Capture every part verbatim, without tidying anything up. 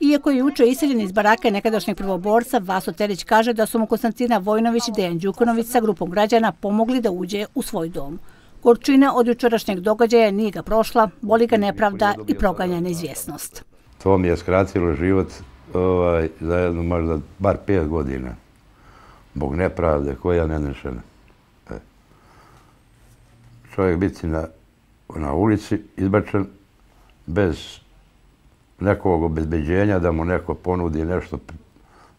Iako je juče iseljen iz barake nekadašnjeg prvoborca, Vaso Terić kaže da su mu Konstantina Vojnović i Dejan Đukanović sa grupom građana pomogli da uđe u svoj dom. Gorčina od jučerašnjeg događaja nije ga prošla, boli ga nepravda i proganja neizvjesnost. To mi je skratilo život ovaj, za jedno možda bar pet godina. Zbog nepravde koja je nenešena. E. Čovjek biti na, na ulici izbačen bez nekog obezbeđenja da mu neko ponudi nešto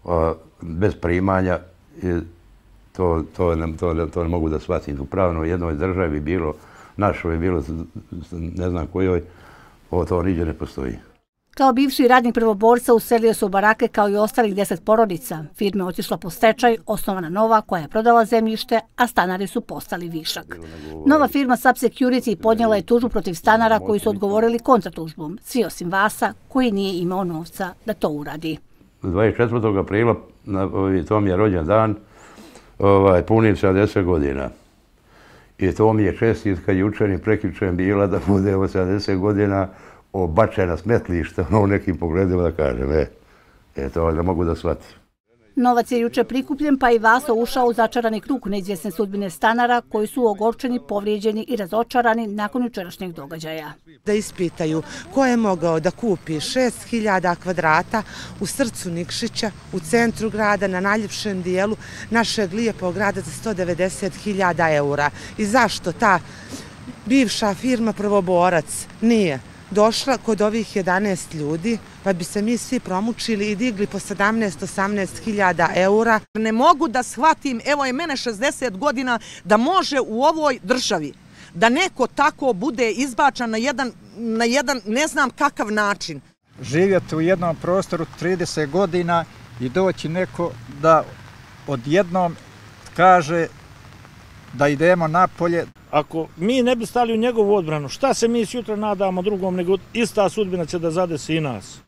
a, bez primanja i to, to, ne, to, to ne mogu da shvatim. U pravnoj jednoj državi bilo, našoj bilo, ne znam kojoj, ovo to niđe ne postoji. Kao bivši radnik prvoborca uselio se u barake kao i ostalih deset porodica. Firma je otišla po stečaj, osnovana nova koja je prodala zemljište, a stanari su postali višak. Nova firma Sub Security podnijela je tužbu protiv stanara koji su odgovorili kontratužbom, svi osim Vasa koji nije imao novca da to uradi. dvadeset četvrtog aprila, na, to mi je rođen dan, ovaj, punim sedamdeset godina. I to mi je čestitka jučer i prekjučer bila da bude ovo sedamdeset godina obačena smetlišta u nekim pogledima da kažem, e, e to ne mogu da shvatim. Novac je juče prikupljen pa i Vaso ušao u začarani krug neizvjesne sudbine stanara koji su ogorčeni, povrijeđeni i razočarani nakon jučerašnjeg događaja. Da ispitaju ko je mogao da kupi šest hiljada kvadrata u srcu Nikšića, u centru grada, na najljepšem dijelu našeg lijepog grada za sto devedeset hiljada eura. I zašto ta bivša firma Prvoborac nije došla kod ovih jedanaest ljudi, pa bi se mi svi promučili i digli po sedamnaest osamnaest hiljada eura. Ne mogu da shvatim, evo je mene šezdeset godina, da može u ovoj državi da neko tako bude izbačan na jedan, na jedan ne znam kakav način. Živjeti u jednom prostoru trideset godina i doći neko da odjednom kaže da idemo napolje. Ako mi ne bi stali u njegovu odbranu, šta se mi sutra nadamo drugom, nego ista sudbina će da zadesi i nas.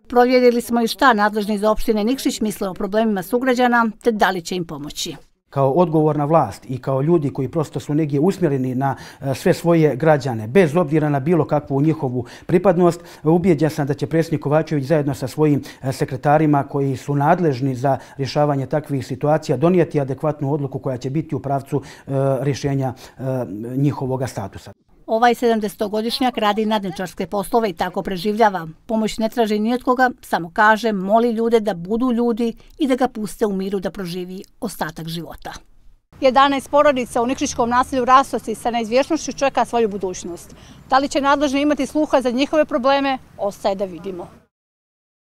Provjerili smo i šta nadležni iz opštine Nikšić misle o problemima sugrađana, te da li će im pomoći. Kao odgovorna vlast i kao ljudi koji prosto su negdje usmjereni na sve svoje građane, bez obzira na bilo kakvu njihovu pripadnost, ubijeđen sam da će predsjednik Kovačević zajedno sa svojim sekretarima koji su nadležni za rješavanje takvih situacija donijeti adekvatnu odluku koja će biti u pravcu rješenja njihovog statusa. Ovaj sedamdesetogodišnjak radi nadničarske poslove i tako preživljava. Pomoć ne traži ni od koga, samo kaže, moli ljude da budu ljudi i da ga puste u miru da proživi ostatak života. jedanaest porodica u nikšićkom naselju Rastoci sa neizvjesnošću čeka svoju budućnost. Da li će nadležni imati sluha za njihove probleme, ostaje da vidimo.